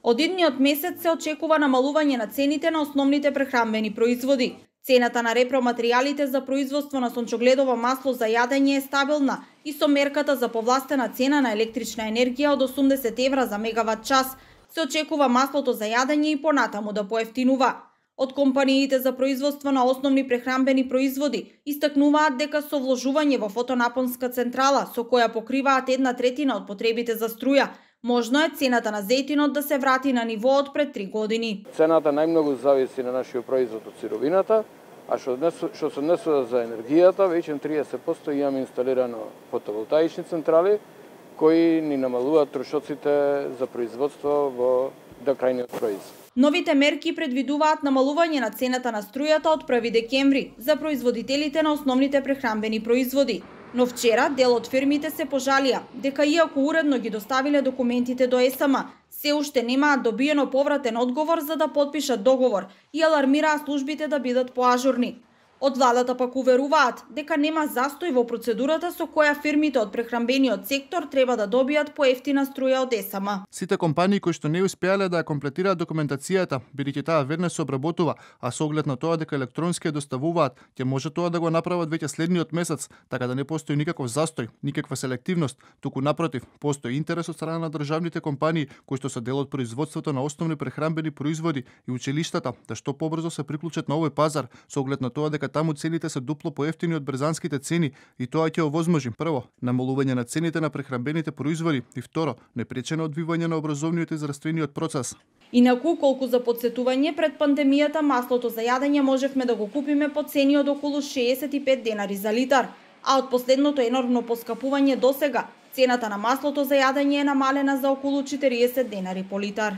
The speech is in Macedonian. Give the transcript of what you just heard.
Од идниот месец се очекува намалување на цените на основните прехранбени производи. Цената на репроматеријалите за производство на сончогледово масло за јадење е стабилна и со мерката за повластена цена на електрична енергија од 80 евра за мегават час се очекува маслото за јадење и понатаму да поевтинува. Од компаниите за производство на основни прехранбени производи истакнуваат дека со вложување во фотонапонска централа со која покриваат 1/3 од потребите за струја, можно е цената на зејтинот да се врати на нивоот пред 3 години. Цената најмногу зависи на нашиот производ од сировината, а што се однесува за енергијата, веќе 30% имаме инсталирано фотоволтаични централи кои ни намалуваат трошоците за производство до крајниот производ. Новите мерки предвидуваат намалување на цената на струјата од 1 декември за производителите на основните прехранбени производи. Но вчера дел од фирмите се пожалија дека иако уредно ги доставиле документите до ЕСМ, се уште немаат добиено повратен одговор за да потпишат договор и алармираа службите да бидат поажурни. Од владата пак уверуваат дека нема застој во процедурата со која фирмите од прехранбениот сектор треба да добијат поевтина струја од ЕСМ. Сите компании кои што не успеале да ја комплетираат документацијата, бидејќи таа веднаш се обработува, а со оглед на тоа дека електронски ја доставуваат, ќе може тоа да го направат веќе следниот месец, така да не постои никаков застој, никаква селективност, туку напротив, постои интерес од страна на државните компании кои што се дел од производството на основни прехранбени производи и училиштата да што побрзо се приклучат на овој пазар со оглед на тоа дека таму цените се дупло поевтини од брзанските цени и тоа ќе овозможи прво намалување на цените на прехранбените производи и второ непречено одвивање на образовниот и здравствениот процес. Инаку, колку за подсетување, пред пандемијата маслото за јадење можевме да го купиме по цени од околу 65 денари за литар, а од последното енормно поскапување досега цената на маслото за јадење е намалена за околу 40 денари по литар.